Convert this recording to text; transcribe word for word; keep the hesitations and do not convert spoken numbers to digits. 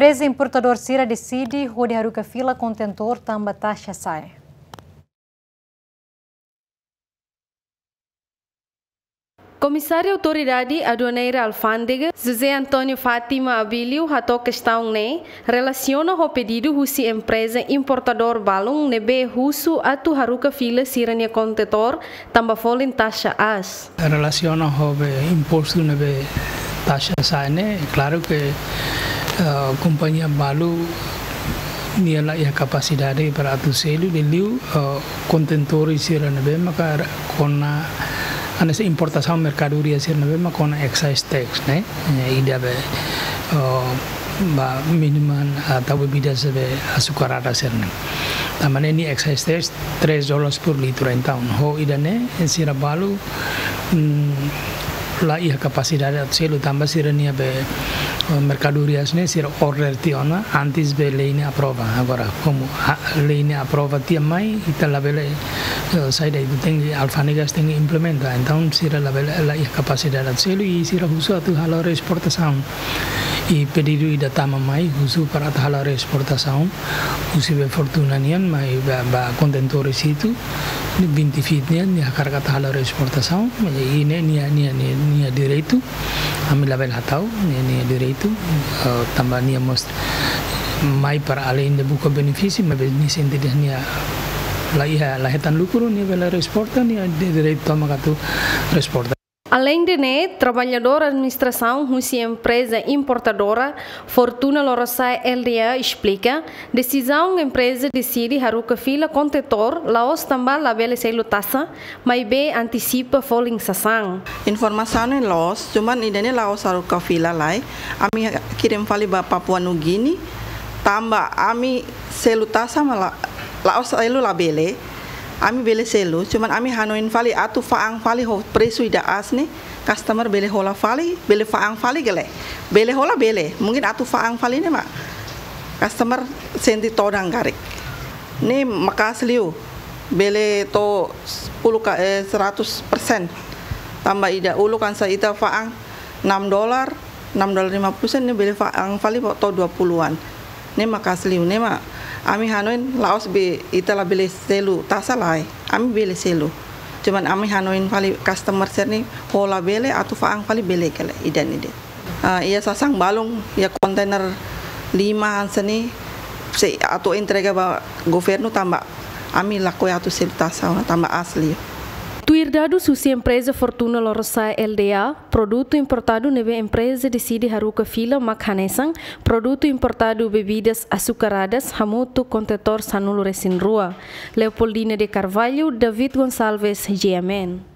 Empreza importadór sira deside hodi haruka fila kontentór tanba taxa sa'e. Komisáriu Autoridade Aduaneira Alfándega, José António Fátima Abílio, hato'o kestaun ne'e relasiona ho pedidu husi empreza importadór balun ne'ebé husu atu haruka fila sira-nia kontentór tanba folin taxa aas. Relasiona ho be impostu ne'ebé taxa sa'e ne'e, klaru ke, eh, kompañia balu nia la iha kapasidade para atu selu, liuliu, eh, kontentór sira ne'ebé maka kona hanesan importasaun merkadoria sira ne'ebé maka kona excise tax ne'e. Eh, ida be, eh, ba minuman atau bebidas be açucaradas sira-ne'e. Tanba ne'e nia excise tax três dólares por litro. Entaun, ho ida-ne'e, sira balu, mm, la iha kapasidade atu selu tanba sira-nia be, eh, merkadorias ne'e sira order tiha ona antes be lei ne'e aprova. Agora, komu, ah, lei ne'e aprova tiha mai, ita labele, eh, saida ita tenke, alfándegas tenke implementa. Entaun, sira labele, la iha kapasidade atu selu, i sira husu atu hala'o reesportasaun. I pedidu ida tama mai, husu para atu hala'o reesportasaun husi be Fortuna nian mai ba, ba kontentór hitu, ne'e vinte feet nian, nia hakarak atu hala'o reesportasaun, i ne'e nia, nia, nia, nia direitu, ami labele hata'o, nia, nia direitu, eh, tanba nia mós mai para aleinde buka benefísiu, maibé nia sente dehan nia la iha, la hetan lukru, nia bele reesporta, nia direitu tomak atu reesporta. Aleinde ne'e, traballadór administrasaun husi empreza importadora Fortuna Lorosa'e L D A esplika, desizaun empreza deside haruka fila kontentór la'ós tanba labele selu taxa, maibé antisipa folin sasán. Informasaun ne'e loos, cuman ida-ne'e la'ós haruka fila lai, ami kirim fali ba Papua Nugini, tanba ami selu taxa mak la, la'ós selu labele, ami bele selu, cuman ami hanoin fali atu fa'an fali ho presu ida aas ne'e, customer bele hola fali, bele fa'an fali ka lae. Bele hola bele, mungkin atu fa'an fali ne'e mak customer sente todan karik. Ne'e maka'as liu, bele to'o sepuluh ka, eh, seratus persen. Tanba ida uluk hanesan ita fa'an enam dolar, enam dolar lima puluh sen, ne'e bele fa'an fali ba to'o dua puluhan. Ne'e maka'as liu, ne'e mak ami hanoin la'ós be ita labele selu taxa lae, ami bele selu. Cuman ami hanoin fali customer sira-ne'e hola bele atu fa'an fali bele ka lae, ida-ne'e de'it. Ah, iha sasán balun, iha kontainer lima hanesan ne'e, sei atu entrega ba governu tanba ami lakohi atu selu taxa tanba aas liu. Tuir dadus husi empreza Fortuna Lorosa'e L D A, produtu importadu ne'ebé empreza deside haruka fila mak hanesan produtu importadu bebidas açucaradas hamutuk kontentór sanulu-resin-rua. Leopoldina de Carvalho, David Gonçalves, G M N.